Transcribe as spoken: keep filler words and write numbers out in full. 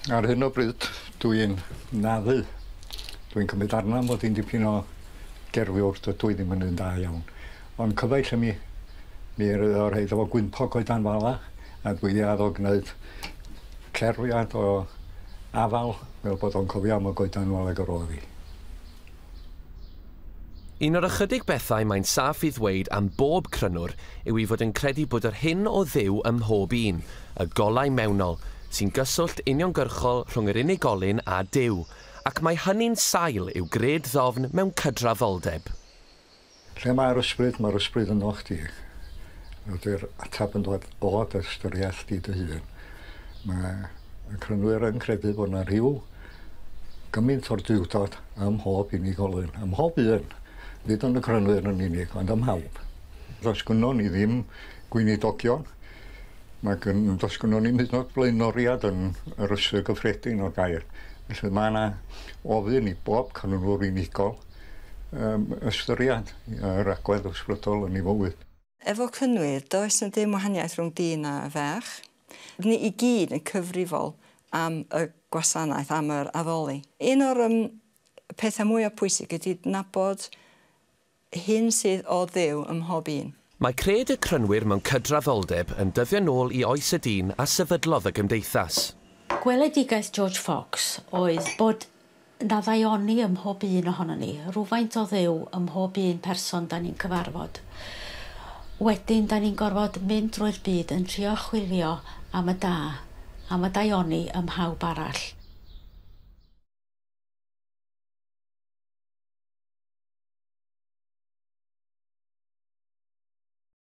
Ar hyn o bryd dwi'n naddu. Dwi'n cymryd arna mod i'n dipyn o gerfiwr, dydw i ddim yn un da iawn. Ond cyfaill i mi, mi o rhaid efo gwympog coedan fala, a dwi 'di addo gwneud cerfiad o afal fel bod o'n cofio am y goedan fala ag yr oedd hi. Un o'r ychydig bethau mae'n saff i ddweud am bob crynwr yw ei fod yn credu bod yr hyn o Dduw ym mhob un, y golau mewnol, sy'n gyswllt uniongyrchol rhwng yr unigolyn a Duw, ac mae hynny'n sail i'w gred ddofn mewn cydraddoldeb. Lle mae'r ysbryd, mae'r ysbryd yno chdi. Ydy'r ateb yn dod o dy ystyriaeth di dy hun. Mae y crynwyr yn credu bod yna rhyw gymaint o'r duwdod ym mhob unigolyn, ym mhob un. Nid yn y crynwyr yn unig, ond ym mhawb. Does gynnon ni ddim gweinidogion. Mae gyn, does gynnon ni hyd yn oed blaenoriad yn yr ystyr gyffredin o'r gair. Felly mae yna ofyn i bob crynwr unigol um, ystyried yr agwedd ysbrydol yn ei fywyd. Efo Crynwyr, does na ddim wahaniaeth rhwng dyn a ferch. Ni i gyd yn cyfrifol am y gwasanaeth, am yr addoli. Un o'r um, pethau mwyaf pwysig ydy nabod hyn sydd o Dduw ym mhob un. Mae cred y Crynwyr mewn cydraddoldeb yn dyddio nôl i oes y dyn a sefydlodd y gymdeithas. Gweledigaeth George Fox oedd bod 'na ddaioni ym mhob un ohonon ni, rhywfaint o Dduw ym mhob un person da ni'n cyfarfod. Wedyn da ni'n gorfod mynd drwy'r byd yn trio chwilio am y da, am y daioni ym mhawb arall.